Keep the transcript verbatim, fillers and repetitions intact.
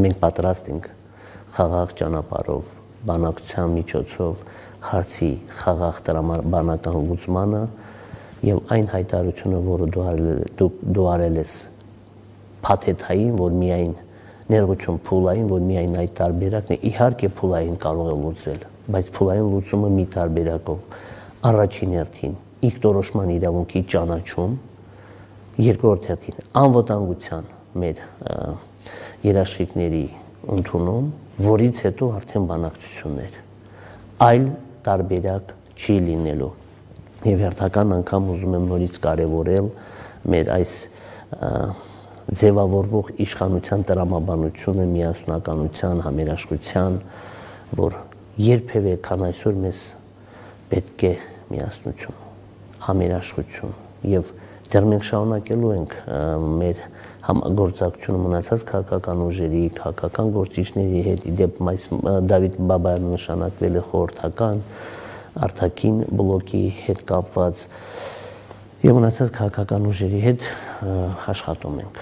մենք պատրաստ ենք խաղաղ ճանապարհով, բանակցության միջոցով հարցի խաղաղ տրամաբանական լուծմանը եւ այն հայտարարությունը, որը դու դու արել ես փաթեթային, որ միայն ներողություն փուլային, որ միայն այդ տարբերակն է, իհարկե փուլային կարող է լուծվել, բայց փուլային լուծումը մի տարբերակով, առաջին հերթին ինքնորոշման իրավունքի ճանաչում, երկրորդ հերթին անվտանգության մեր երաշխիքների ընդունում, որից հետո արդեն բանակցություններ, այլ տարբերակ չի լինելու եւ հերթական անգամ ուզում եմ նորից կարեւորել մեր այս ձևավորվող իշխանության տրամաբանությունը, միասնականության, համերաշխության, որ երբևէ քան այսօր մեզ պետք է միասնություն, համերաշխություն եւ դեռ մենք շարունակելու ենք մեր համագործակցությունը մնացած քաղաքական ուժերի, քաղաքական գործիչների հետ, իդեպ Դավիթ Բաբայանը նշանակվել է խորհրդական արտաքին բլոկի հետ կապված եւ մնացած քաղաքական ուժերի հետ աշխատում ենք